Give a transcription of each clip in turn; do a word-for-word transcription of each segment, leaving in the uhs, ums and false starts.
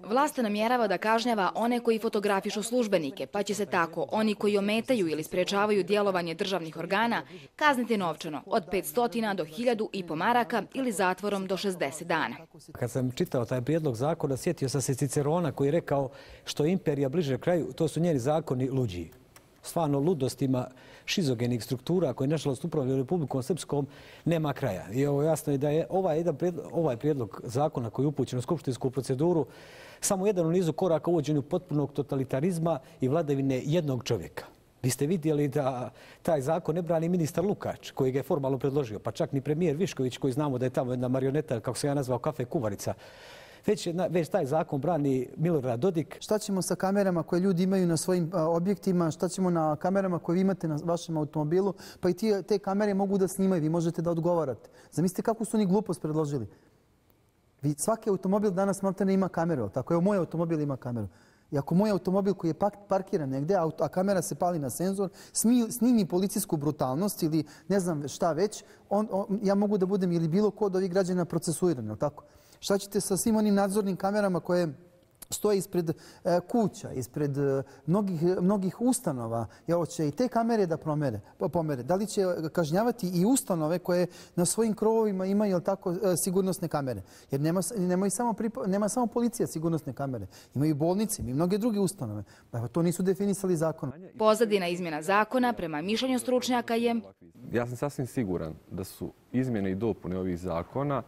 Vlast namjerava da kažnjava one koji fotografišu službenike, pa će se tako oni koji ometaju ili sprečavaju djelovanje državnih organa kazniti novčano od petsto do hiljadu i po maraka ili zatvorom do šezdeset dana. Kad sam čitao taj prijedlog zakona, sjetio sam se Cicerona koji je rekao što je imperija bliže kraju, to su njeni zakoni luđi. Stvarno ludostima šizogenih struktura koje nažalost upravljaju Republikom Srpskom nema kraja. I ovo jasno je da je ovaj, jedan prijedlog, ovaj prijedlog zakona koji je upućen u skupštinsku proceduru samo jedan u nizu koraka uvođenju potpunog totalitarizma i vladavine jednog čovjeka. Vi ste vidjeli da taj zakon ne brani ministar Lukač, koji ga je formalno predložio, pa čak ni premijer Višković, koji znamo da je tamo jedna marioneta, kako se ja nazvao, kafe kuvarica. Već, već taj zakon brani Milorad Dodik. Šta ćemo sa kamerama koje ljudi imaju na svojim a, objektima, šta ćemo na kamerama koje vi imate na vašem automobilu, pa i tije, te kamere mogu da snimaju, vi možete da odgovarate. Zamislite kako su oni glupost predložili. Vi, svaki automobil danas maltene ima kameru, tako evo moj automobil ima kameru. I ako moj automobil koji je parkiran negdje, a kamera se pali na senzor, snimi policijsku brutalnost ili ne znam šta već, on, on, ja mogu da budem ili bilo ko od ovih građana procesuiran, tako? Šta ćete sa svim onim nadzornim kamerama koje stoje ispred e, kuća, ispred e, mnogih, mnogih ustanova? Evo će i te kamere da promere, pomere. Da li će kažnjavati i ustanove koje na svojim krovovima imaju jel tako, e, sigurnosne kamere? Jer nema, nema, samo pripa, nema samo policija sigurnosne kamere. Imaju bolnice i mnoge druge ustanove. Pa to nisu definisali zakonom. Pozadina izmjena zakona prema mišljenju stručnjaka je... Ja sam sasvim siguran da su izmjene i dopune ovih zakona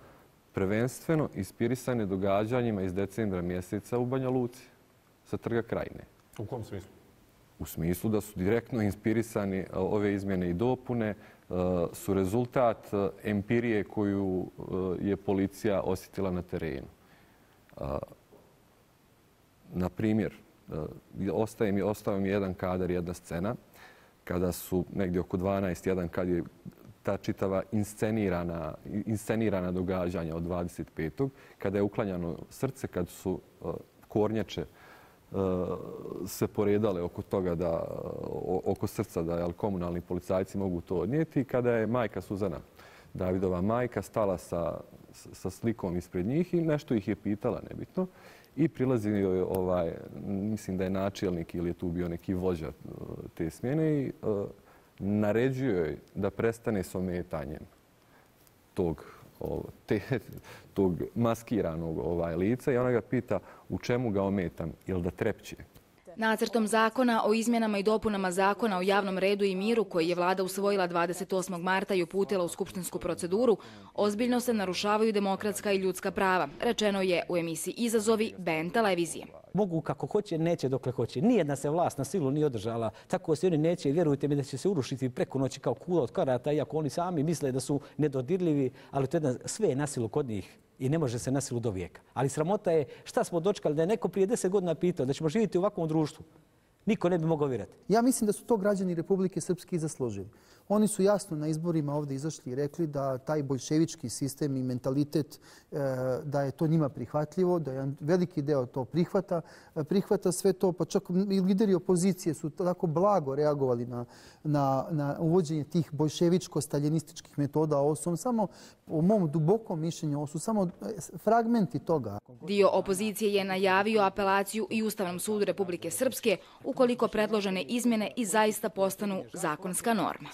prvenstveno inspirisane događanjima iz decembra mjeseca u Banja Luci sa Trga Krajine. U kom smislu? U smislu da su direktno inspirisani ove izmjene i dopune, su rezultat empirije koju je policija osjetila na terenu. Na primjer, ostaje mi, ostao mi jedan kadar, jedna scena, kada su negdje oko dvanaest jedan, kad je ta čitava inscenirana, inscenirana događanja od dvadeset petog kada je uklanjano srce, kad su uh, kornjače uh, se poredale oko toga da, uh, oko srca da jel, komunalni policajci mogu to odnijeti, kada je majka Suzana, Davidova majka, stala sa, sa slikom ispred njih i nešto ih je pitala, nebitno, i prilazi joj, ovaj, mislim da je načelnik ili je tu bio neki vođa uh, te smjene i uh, naređuje joj da prestane s ometanjem tog, te, tog maskiranog ovaj, lica i ona ga pita u čemu ga ometam, jel da trepće. Nacrtom zakona o izmjenama i dopunama zakona o javnom redu i miru koji je vlada usvojila dvadeset osmog marta i uputila u skupštinsku proceduru, ozbiljno se narušavaju demokratska i ljudska prava, rečeno je u emisiji Izazovi B N televizije. Mogu kako hoće, neće dokle hoće. Nijedna se vlast na silu nije održala. Tako se oni neće i vjerujte mi da će se urušiti preko noći kao kula od karata, iako oni sami misle da su nedodirljivi, ali to je sve je na silu kod njih i ne može se na silu do vijeka. Ali sramota je šta smo dočekali da je neko prije deset godina pitao da ćemo živjeti u ovakvom društvu. Niko ne bi mogao vjerati. Ja mislim da su to građani Republike Srpske i zaslužili. Oni su jasno na izborima ovdje izašli i rekli da taj boljševički sistem i mentalitet, da je to njima prihvatljivo, da je veliki deo to prihvata, prihvata sve to, pa čak i lideri opozicije su tako blago reagovali na, na, na uvođenje tih boljševičko-staljinističkih metoda. Ovo su samo, u mom dubokom mišljenju, ovo su samo fragmenti toga. Dio opozicije je najavio apelaciju i Ustavnom sudu Republike Srpske ukoliko predložene izmjene i zaista postanu zakonska norma.